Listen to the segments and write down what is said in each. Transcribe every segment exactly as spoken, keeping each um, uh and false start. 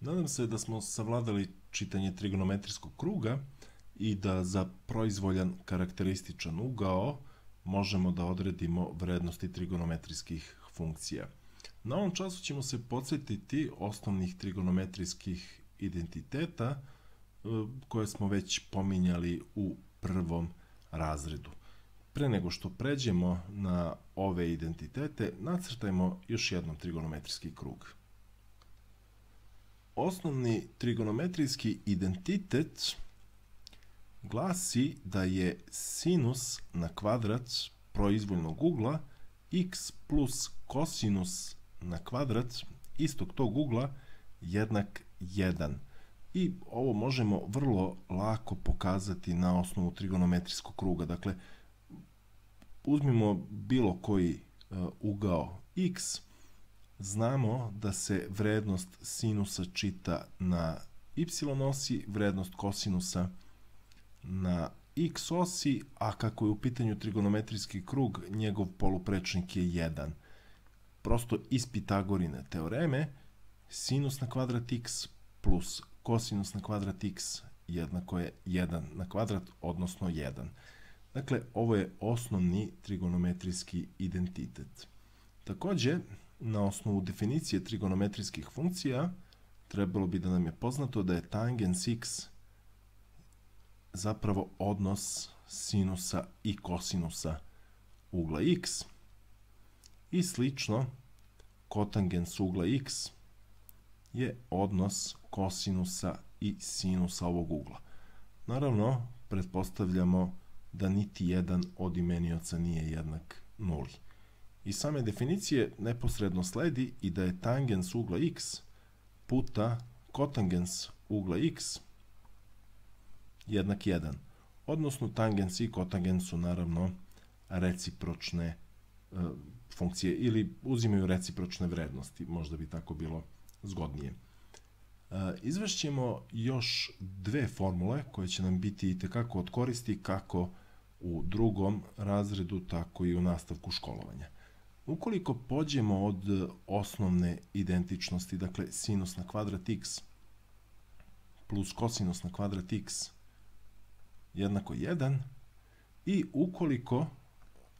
Nadam se da smo savladali čitanje trigonometrijskog kruga i da za proizvoljan karakterističan ugao možemo da odredimo vrednosti trigonometrijskih funkcija. Na ovom času ćemo se podsjetiti osnovnih trigonometrijskih identiteta koje smo već pominjali u prvom razredu. Pre nego što pređemo na ove identitete, nacrtajmo još jednom trigonometrijski krug. Osnovni trigonometrijski identitet glasi da je sinus na kvadrat proizvoljnog ugla x plus kosinus na kvadrat istog tog ugla jednak jedan. I ovo možemo vrlo lako pokazati na osnovu trigonometrijskog kruga. Dakle, uzmimo bilo koji ugao x, znamo da se vrednost sinusa čita na y osi, vrednost kosinusa na x osi, a kako je u pitanju trigonometrijski krug, njegov poluprečnik je jedan. Prosto iz Pitagorine teoreme, sinus na kvadrat x plus kosinus na kvadrat x jednako je jedan na kvadrat, odnosno jedan. Dakle, ovo je osnovni trigonometrijski identitet. Takođe, na osnovu definicije trigonometrijskih funkcija, trebalo bi da nam je poznato da je tangens x zapravo odnos sinusa i kosinusa ugla x i slično kotangens ugla x je odnos kosinusa i sinusa ovog ugla. Naravno, pretpostavljamo da niti jedan od imenioca nije jednak nuli. Iz same definicije neposredno sledi i da je tangens ugla x puta kotangens ugla x jednak jedan. Odnosno, tangens i kotangens su naravno recipročne e, funkcije ili uzimaju recipročne vrednosti, možda bi tako bilo zgodnije. E, izvešćemo još dve formule koje će nam biti itekako od koristi kako u drugom razredu, tako i u nastavku školovanja. Ukoliko pođemo od osnovne identičnosti, dakle sinus na kvadrat x plus kosinus na kvadrat x jednako jedan, i ukoliko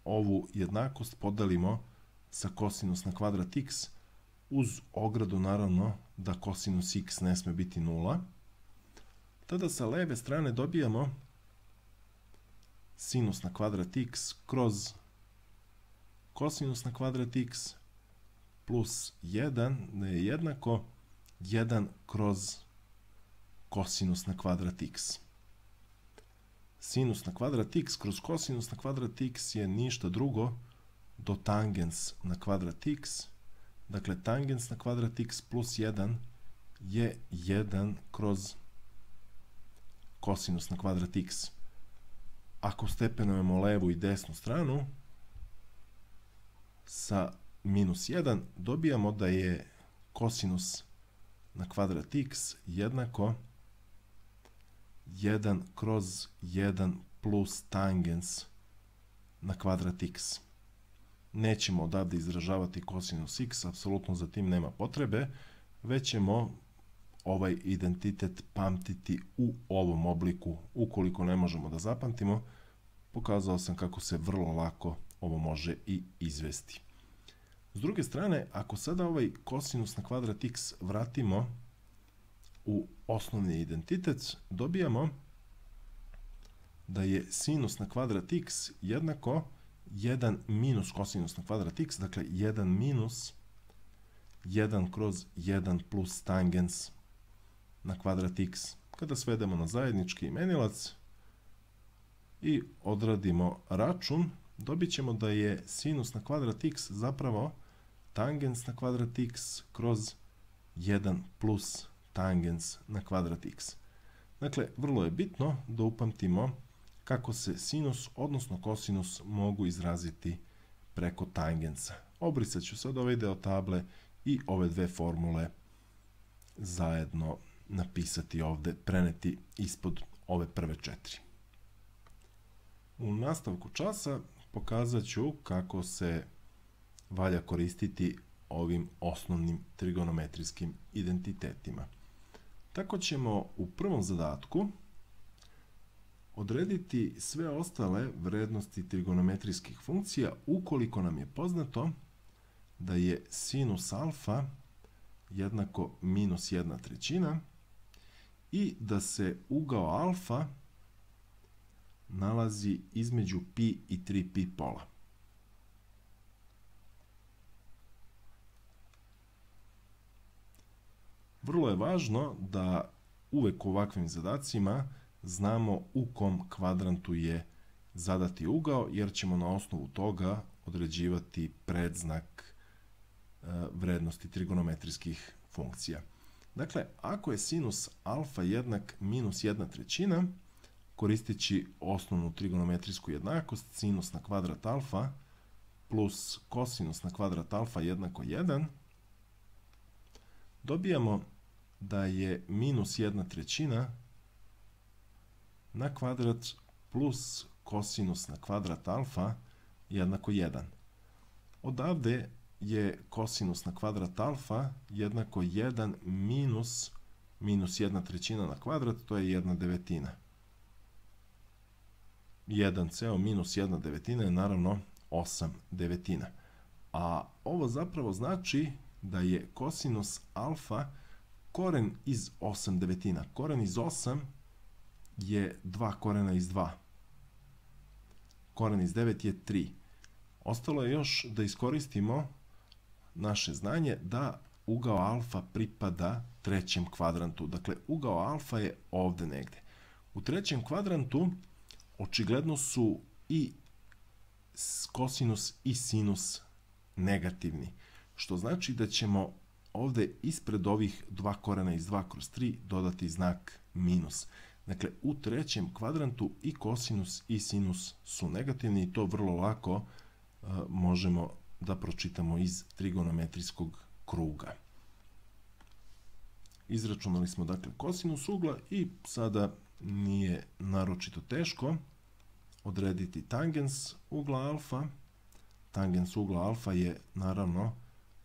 ovu jednakost podelimo sa kosinus na kvadrat x, uz ogradu naravno da kosinus x ne sme biti nula, tada sa leve strane dobijamo sinus na kvadrat x kroz kosinus na kvadrat x plus jedan je jednako jedan kroz kosinus na kvadrat x. Sinus na kvadrat x kroz kosinus na kvadrat x je ništa drugo do tangens na kvadrat x. Dakle, tangens na kvadrat x plus jedan je jedan kroz kosinus na kvadrat x. Ako stepenujemo levu i desnu stranu, sa minus jedan dobijamo da je kosinus na kvadrat x jednako jedan kroz jedan plus tangens na kvadrat x. Nećemo odavde izražavati kosinus x, apsolutno za tim nema potrebe, već ćemo ovaj identitet pamtiti u ovom obliku. Ukoliko ne možemo da zapamtimo, pokazao sam kako se vrlo lako ovo može i izvesti. S druge strane, ako sada ovaj kosinus na kvadrat x vratimo u osnovni identitet, dobijamo da je sinus na kvadrat x jednako jedan minus kosinus na kvadrat x, dakle jedan minus jedan kroz jedan plus tangens na kvadrat x. Kada svedemo na zajednički imenilac i odradimo račun, dobit ćemo da je sinus na kvadrat x zapravo tangens na kvadrat x kroz jedan plus tangens na kvadrat x. Dakle, vrlo je bitno da upamtimo kako se sinus, odnosno kosinus, mogu izraziti preko tangensa. Obrisat ću sad ovaj deo table i ove dve formule zajedno napisati ovde, preneti ispod ove prve četiri. U nastavku časa pokazat ću kako se valja koristiti ovim osnovnim trigonometrijskim identitetima. Tako ćemo u prvom zadatku odrediti sve ostale vrednosti trigonometrijskih funkcija ukoliko nam je poznato da je sinus alfa jednako minus jedna trećina i da se ugao alfa nalazi između pi i tri pi pola. Vrlo je važno da uvek u ovakvim zadacima znamo u kom kvadrantu je zadati ugao, jer ćemo na osnovu toga određivati predznak vrednosti trigonometrijskih funkcija. Dakle, ako je sinus alfa jednak minus jedna trećina, koristeći osnovnu trigonometrijsku jednakost, sinus na kvadrat alfa plus kosinus na kvadrat alfa jednako jedan, dobijamo da je minus jedna trećina na kvadrat plus kosinus na kvadrat alfa jednako jedan. Odavde je kosinus na kvadrat alfa jednako jedan minus minus jedna trećina na kvadrat, to je jedna devetina. jedan ceo minus jedna devetina je naravno osam devetina. A ovo zapravo znači da je kosinus alfa koren iz osam devetina. Koren iz osam je dva korena iz dva. Koren iz devet je tri. Ostalo je još da iskoristimo naše znanje da ugao alfa pripada trećem kvadrantu. Dakle, ugao alfa je ovde negde. U trećem kvadrantu očigledno su i kosinus i sinus negativni, što znači da ćemo ovde ispred ovih dva korena iz dva kroz tri dodati znak minus. Dakle, u trećem kvadrantu i kosinus i sinus su negativni i to vrlo lako uh, možemo da pročitamo iz trigonometrijskog kruga. Izračunali smo dakle kosinus ugla i sada nije naročito teško odrediti tangens ugla alfa. Tangens ugla alfa je naravno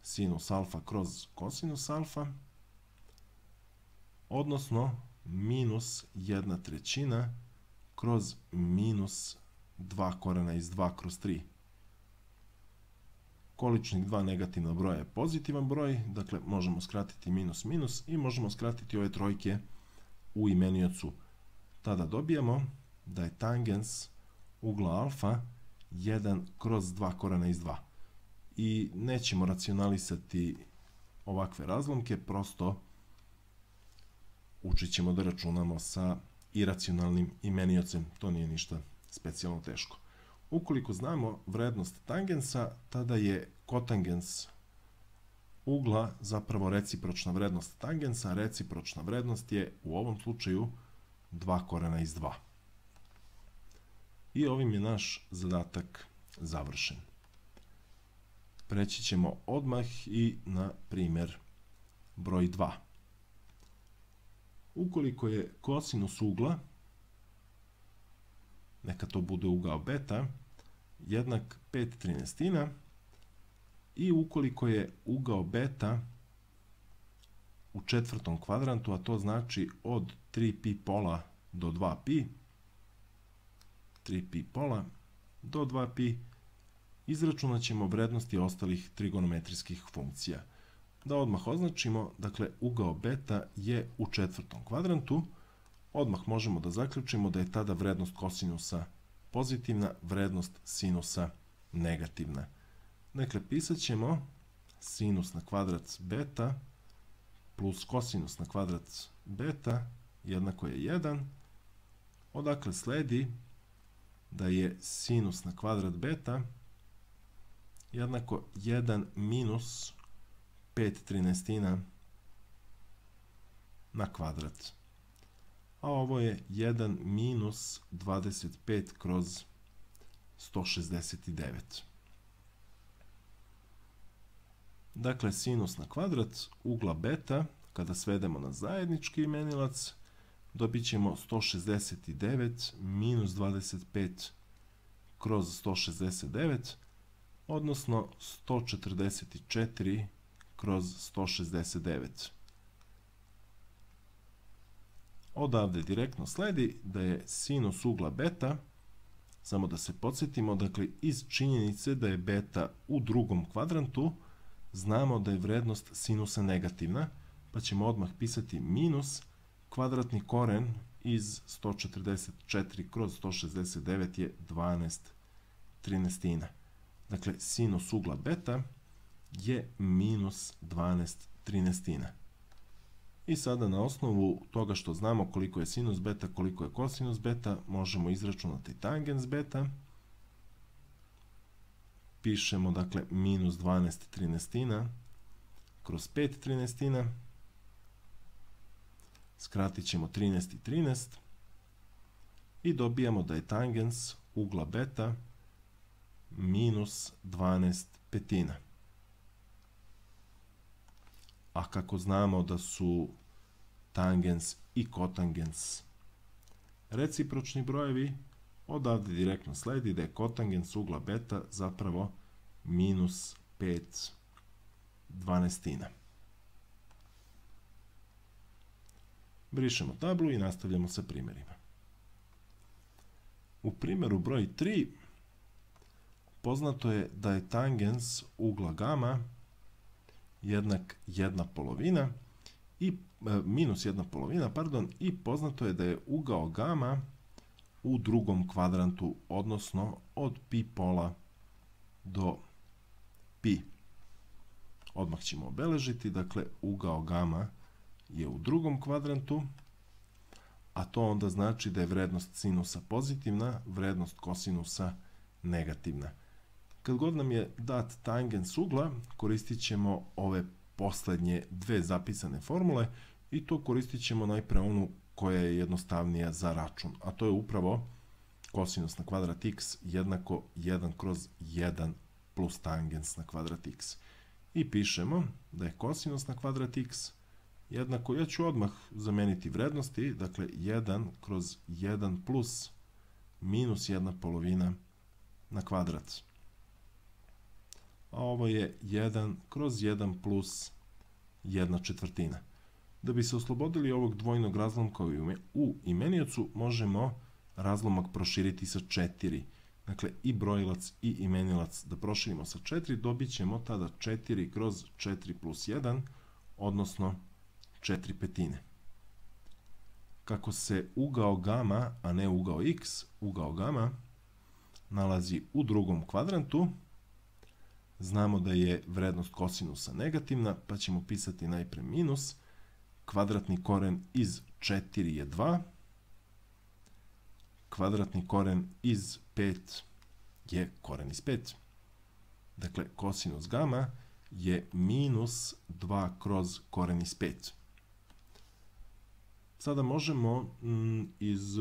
sinus alfa kroz kosinus alfa, odnosno minus jedna trećina kroz minus dva korena iz dva kroz tri. Količnik dva negativna broja je pozitivan broj, dakle možemo skratiti minus minus i možemo skratiti ove trojke u imeniocu. Tada dobijamo da je tangens ugla alfa jedan kroz dva korena iz dva. I nećemo racionalisati ovakve razlomke, prosto učit ćemo da računamo sa iracionalnim imeniocem, to nije ništa specijalno teško. Ukoliko znamo vrednost tangensa, tada je kotangens ugla zapravo recipročna vrednost tangensa, recipročna vrednost je u ovom slučaju dva korena iz dva. I ovim je naš zadatak završen. Preći ćemo odmah i na primjer broj dva. Ukoliko je kosinus ugla, neka to bude ugao beta, jednak pet trinaestina i ukoliko je ugao beta u četvrtom kvadrantu, a to znači od tri pi pola do dva pi, tri pi pola do dva pi, izračunat ćemo vrednosti ostalih trigonometrijskih funkcija. Da odmah označimo, dakle, ugao beta je u četvrtom kvadrantu, odmah možemo da zaključimo da je tada vrednost kosinusa pozitivna, vrednost sinusa negativna. Dakle, pisat ćemo sinus na kvadrat beta plus kosinus na kvadrat beta jednako je jedan, odakle sledi da je sinus na kvadrat beta jednako jedan minus pet trinaestina na kvadrat. A ovo je jedan minus dvadeset pet kroz sto šezdeset devet. Dakle, sinus na kvadrat ugla beta, kada svedemo na zajednički imenilac, dobit ćemo sto šezdeset devet minus dvadeset pet kroz sto šezdeset devet, odnosno sto četrdeset četiri kroz sto šezdeset devet. odavde direktno sledi da je sinus ugla beta, samo da se podsjetimo, dakle iz činjenice da je beta u drugom kvadrantu, znamo da je vrednost sinusa negativna, pa ćemo odmah pisati minus kvadratni koren iz sto četrdeset četiri kroz sto šezdeset devet je dvanaest trinaestina. Dakle, sinus ugla beta je minus dvanaest trinaestina. I sada na osnovu toga što znamo koliko je sinus beta, koliko je kosinus beta, možemo izračunati tangens beta. Pišemo, dakle, minus dvanaest trinaestina kroz pet trinaestina. Skratit ćemo trinaest i trinaest. I dobijamo da je tangens ugla beta minus dvanaest petina. A kako znamo da su tangens i kotangens recipročni brojevi, odavde direktno sledi da je kotangens ugla beta zapravo minus pet dvanaestina. Brišemo tablu i nastavljamo sa primjerima. U primjeru broj tri poznato je da je tangens ugla gama jednak jedna polovina i e, minus jedna polovina, pardon, i poznato je da je ugao gama u drugom kvadrantu, odnosno od pi pola do pi. Odmah ćemo obeležiti, dakle, ugao gama je u drugom kvadrantu, a to onda znači da je vrednost sinusa pozitivna, vrednost kosinusa negativna. Kad god nam je dat tangens ugla, koristit ćemo ove poslednje dve zapisane formule i to koristit ćemo najpre onu koja je jednostavnija za račun, a to je upravo kosinus na kvadrat x jednako jedan kroz jedan plus tangens na kvadrat x. I pišemo da je kosinus na kvadrat x jednako, ja ću odmah zameniti vrednosti, dakle jedan kroz jedan plus minus jedna polovina na kvadrat. A ovo je jedan kroz jedan plus jedna četvrtina. Da bi se oslobodili ovog dvojnog razlomka u imeniocu, možemo razlomak proširiti sa četiri. Dakle, i brojilac i imenilac da proširimo sa četiri, dobit ćemo tada četiri kroz četiri plus jedan, odnosno četiri petine. Kako se ugao gama, a ne ugao x, ugao gama, nalazi u drugom kvadrantu, znamo da je vrednost kosinusa negativna, pa ćemo pisati najpre minus, kvadratni koren iz četiri je dva, kvadratni koren iz pet je koren iz pet. Dakle, kosinus gama je minus dva kroz koren iz pet. Sada možemo m, iz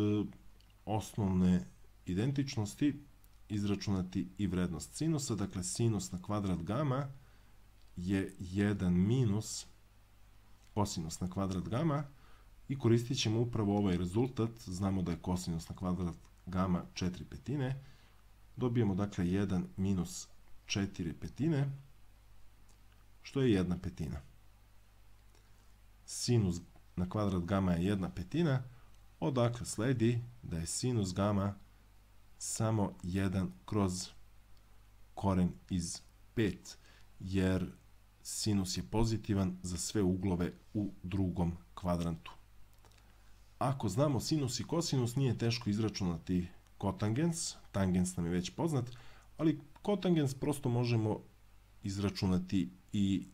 osnovne identičnosti izračunati i vrednost sinusa. Dakle, sinus na kvadrat gama je jedan minus kosinus na kvadrat gama i koristit ćemo upravo ovaj rezultat. Znamo da je kosinus na kvadrat gama četiri petine. Dobijemo, dakle, jedan minus četiri petine, što je jedna petina. Sinus na kvadrat gama je jedna petina, odakle sledi da je sinus gama samo jedan kroz koren iz pet, jer sinus je pozitivan za sve uglove u drugom kvadrantu. Ako znamo sinus i kosinus, nije teško izračunati kotangens, tangens nam je već poznat, ali kotangens prosto možemo izračunati i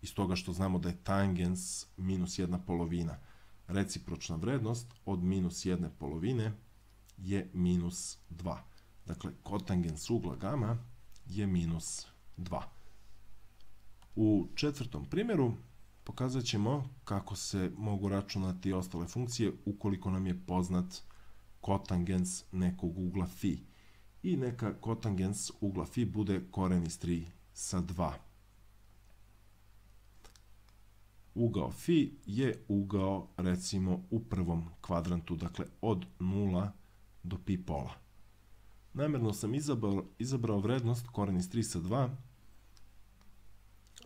iz toga što znamo da je tangens minus jedna polovina. Recipročna vrednost od minus jedne polovine je minus dva. Dakle, kotangens ugla gama je minus dva. U četvrtom primjeru pokazat ćemo kako se mogu računati ostale funkcije ukoliko nam je poznat kotangens nekog ugla fi. I neka kotangens ugla fi bude koren iz tri sa dva. Ugao fi je ugao, recimo, u prvom kvadrantu, dakle od nula do pi pola. Namjerno sam izabrao, izabrao vrednost koren iz tri sa dva,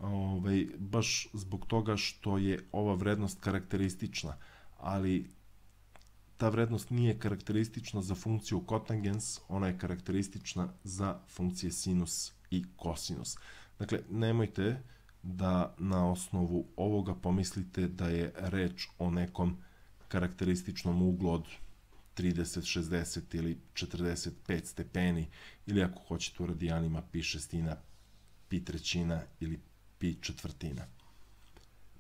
ovaj, baš zbog toga što je ova vrednost karakteristična, ali ta vrednost nije karakteristična za funkciju kotangens, ona je karakteristična za funkcije sinus i kosinus. Dakle, nemojte da na osnovu ovoga pomislite da je reč o nekom karakterističnom uglu od trideset, šezdeset ili četrdeset pet stepeni, ili ako hoćete u radijanima pi šestina, pi trećina ili pi četvrtina.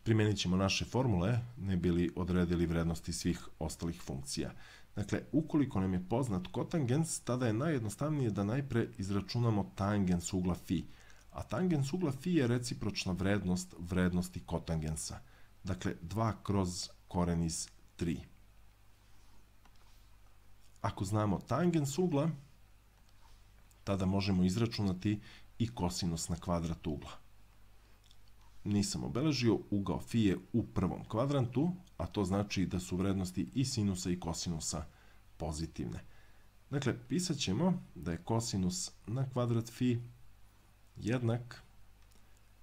Primenit ćemo naše formule, ne bi li odredili vrednosti svih ostalih funkcija. Dakle, ukoliko nam je poznat kotangens, tada je najjednostavnije da najpre izračunamo tangens ugla fi. A tangens ugla fi je recipročna vrednost vrednosti kotangensa. Dakle, dva kroz koren iz tri. Ako znamo tangens ugla, tada možemo izračunati i kosinus na kvadrat ugla. Nisam obeležio, ugao fi je u prvom kvadrantu, a to znači da su vrednosti i sinusa i kosinusa pozitivne. Dakle, pisat ćemo da je kosinus na kvadrat fi jednak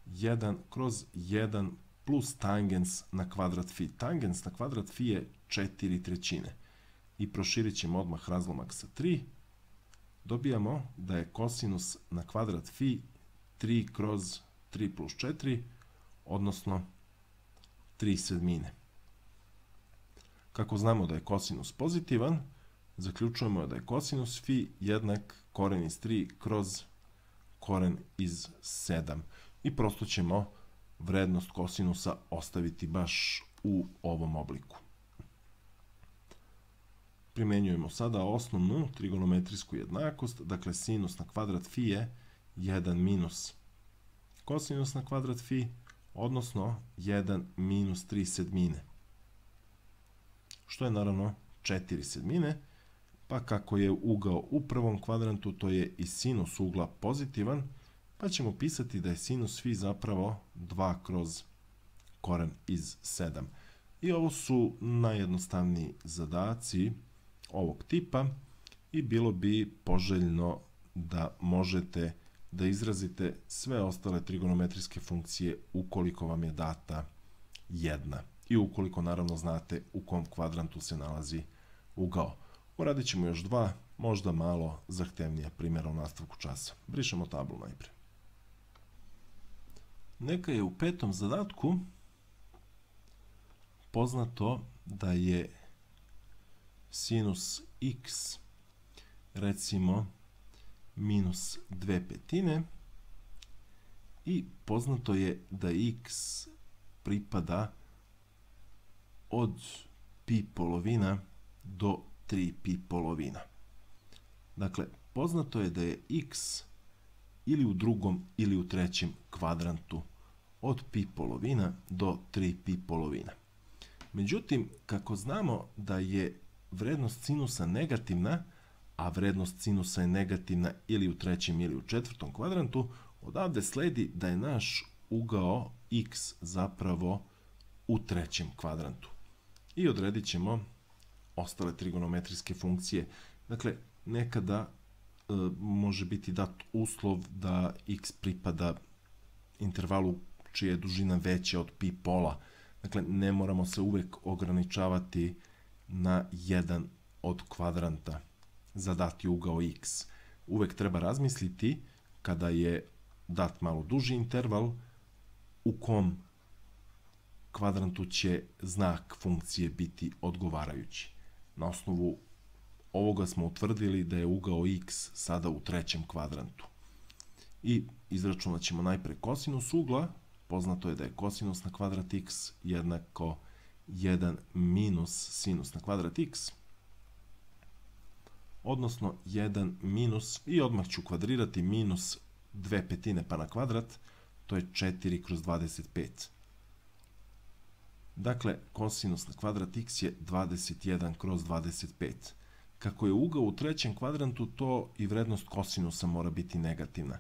jedan kroz jedan plus tangens na kvadrat fi. Tangens na kvadrat fi je četiri trećine. I proširit ćemo odmah razlomak sa tri. Dobijamo da je kosinus na kvadrat fi tri kroz tri plus četiri, odnosno tri sedmine. Kako znamo da je kosinus pozitivan, zaključujemo da je kosinus fi jednak koren iz tri kroz koren iz sedam. I prosto ćemo vrednost kosinusa ostaviti baš u ovom obliku. Primenjujemo sada osnovnu trigonometrijsku jednakost, dakle sinus na kvadrat fi je jedan minus kosinus na kvadrat fi, odnosno jedan minus tri sedmine, što je naravno četiri sedmine, pa kako je ugao u prvom kvadrantu, to je i sinus ugla pozitivan, pa ćemo pisati da je sinus fi zapravo dva kroz koren iz sedam. I ovo su najjednostavniji zadaci ovog tipa i bilo bi poželjno da možete da izrazite sve ostale trigonometrijske funkcije ukoliko vam je data jedna i ukoliko naravno znate u kom kvadrantu se nalazi ugao. Uradit ćemo još dva, možda malo zahtevnija primjera u nastavku časa. Brišemo tablu najpre. Neka je u petom zadatku poznato da je sinus x, recimo, minus dve petine i poznato je da x pripada od pi polovina do tri pi polovina. Dakle, poznato je da je x ili u drugom ili u trećem kvadrantu od pi polovina do tri pi polovina. Međutim, kako znamo da je vrednost sinusa negativna, a vrednost sinusa je negativna ili u trećem ili u četvrtom kvadrantu, odavde sledi da je naš ugao x zapravo u trećem kvadrantu. I odredit ćemo ostale trigonometrijske funkcije. Dakle, nekada e, može biti dat uslov da x pripada intervalu čija je dužina veća od pi pola. Dakle, ne moramo se uvek ograničavati na jedan od kvadranta za dati ugao x. Uvek treba razmisliti, kada je dat malo duži interval, u kom kvadrantu će znak funkcije biti odgovarajući. Na osnovu ovoga smo utvrdili da je ugao x sada u trećem kvadrantu. I izračunat ćemo najpre kosinus ugla. Poznato je da je kosinus na kvadrat x jednako jedan minus sinus na kvadrat x, odnosno jedan minus, i odmah ću kvadrirati, minus dve petine pa na kvadrat, to je četiri kroz dvadeset pet. Dakle, kosinus na kvadrat x je dvadeset jedan kroz dvadeset pet. Kako je ugao u trećem kvadrantu, to i vrednost kosinusa mora biti negativna.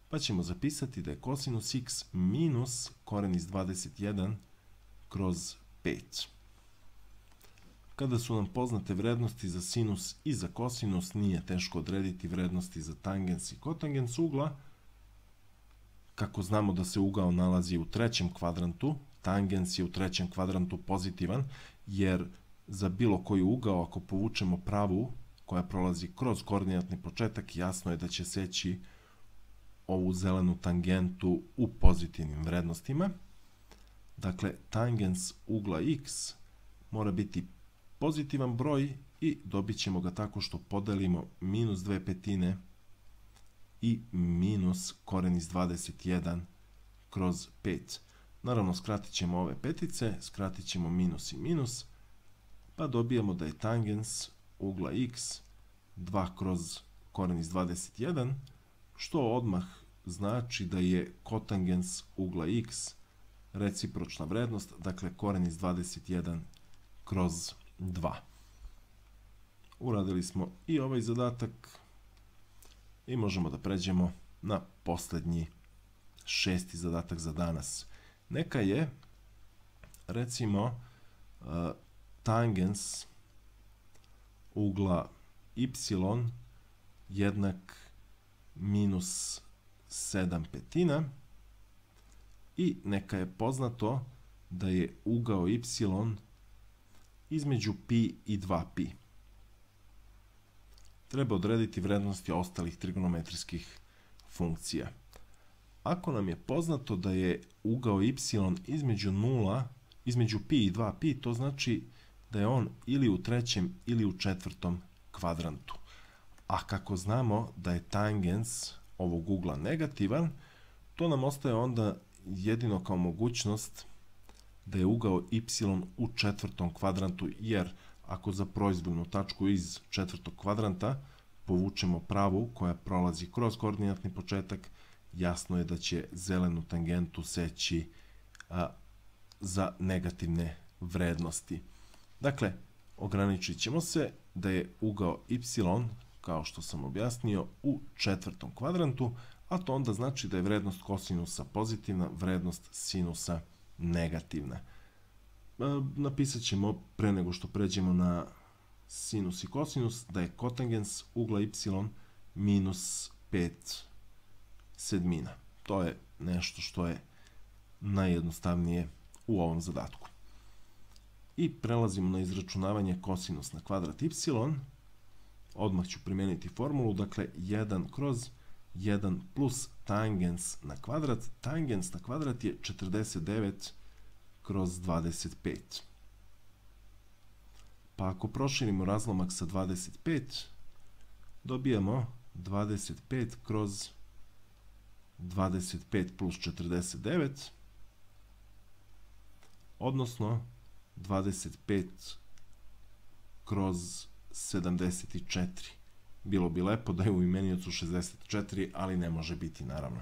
Pa ćemo zapisati da je kosinus x minus koren iz dvadeset jedan kroz pet. Kada su nam poznate vrednosti za sinus i za kosinus, nije teško odrediti vrednosti za tangens i kotangens ugla. Kako znamo da se ugao nalazi u trećem kvadrantu, tangens je u trećem kvadrantu pozitivan, jer za bilo koji ugao, ako povučemo pravu koja prolazi kroz koordinatni početak, jasno je da će seći ovu zelenu tangentu u pozitivnim vrednostima. Dakle, tangens ugla x mora biti pozitivan broj i dobit ćemo ga tako što podelimo minus dve petine i minus koren iz dvadeset jedan kroz pet. Naravno, skratit ćemo ove petice, skratit ćemo minus i minus, pa dobijemo da je tangens ugla x dva kroz koren iz dvadeset jedan, što odmah znači da je kotangens ugla x recipročna vrednost, dakle koren iz dvadeset jedan kroz dva. Uradili smo i ovaj zadatak i možemo da pređemo na poslednji šesti zadatak za danas. Neka je, recimo, tangens ugla y jednak minus sedam petina i neka je poznato da je ugao y između pi i dva pi. Treba odrediti vrednosti ostalih trigonometrijskih funkcija. Ako nam je poznato da je ugao y između nula, između pi i dva pi, to znači da je on ili u trećem ili u četvrtom kvadrantu. A kako znamo da je tangens ovog ugla negativan, to nam ostaje onda jedino kao mogućnost da je ugao y u četvrtom kvadrantu, jer ako za proizvoljnu tačku iz četvrtog kvadranta povučemo pravu koja prolazi kroz koordinatni početak, jasno je da će zelenu tangentu seći a, za negativne vrednosti. Dakle, ograničit ćemo se da je ugao y, kao što sam objasnio, u četvrtom kvadrantu, a to onda znači da je vrednost kosinusa pozitivna, vrednost sinusa negativna. Napisat ćemo, pre nego što pređemo na sinus i kosinus, da je kotangens ugla y minus pet sedmina. To je nešto što je najjednostavnije u ovom zadatku. I prelazimo na izračunavanje kosinus na kvadrat y. Odmah ću primeniti formulu, dakle jedan kroz jedan plus tangens na kvadrat. Tangens na kvadrat je četrdeset devet kroz dvadeset pet. Pa ako proširimo razlomak sa dvadeset pet, dobijamo dvadeset pet kroz dvadeset pet plus četrdeset devet, odnosno dvadeset pet kroz sedamdeset četiri. Bilo bi lepo da je u imeniocu šezdeset četiri, ali ne može biti, naravno.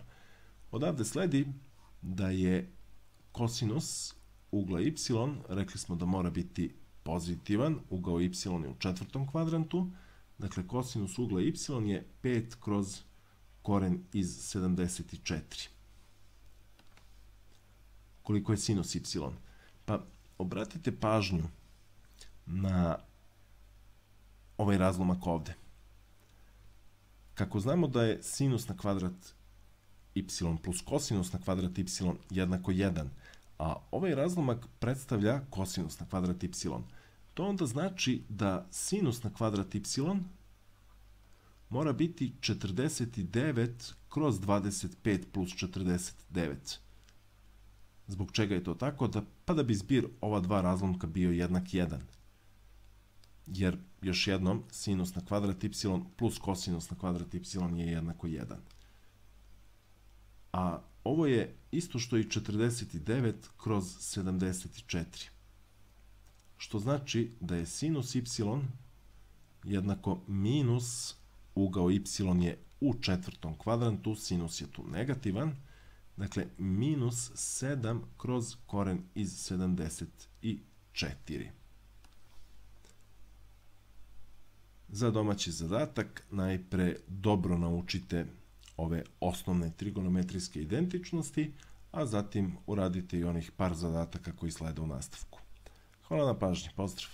Odavde sledi da je kosinus ugla y, rekli smo da mora biti pozitivan, ugao y je u četvrtom kvadrantu, dakle kosinus ugla y je pet kroz koren iz sedamdeset četiri. Koliko je sinus y? Pa obratite pažnju na ovaj razlomak ovde. Kako znamo da je sinus na kvadrat y plus kosinus na kvadrat y jednako jedan, a ovaj razlomak predstavlja kosinus na kvadrat y, to onda znači da sinus na kvadrat y mora biti četrdeset devet kroz dvadeset pet plus četrdeset devet. Zbog čega je to tako? Da, pa da bi zbir ova dva razlomka bio jednak jedan. Jer, još jednom, sinus na kvadrat y plus kosinus na kvadrat y je jednako jedan. A ovo je isto što i četrdeset devet kroz sedamdeset četiri. Što znači da je sinus y jednako minus ugao y je u četvrtom kvadrantu, sinus je tu negativan, dakle minus sedam kroz koren iz sedamdeset četiri. Za domaći zadatak najpre dobro naučite ove osnovne trigonometrijske identičnosti, a zatim uradite i onih par zadataka koji slede u nastavku. Hvala na pažnji, pozdrav!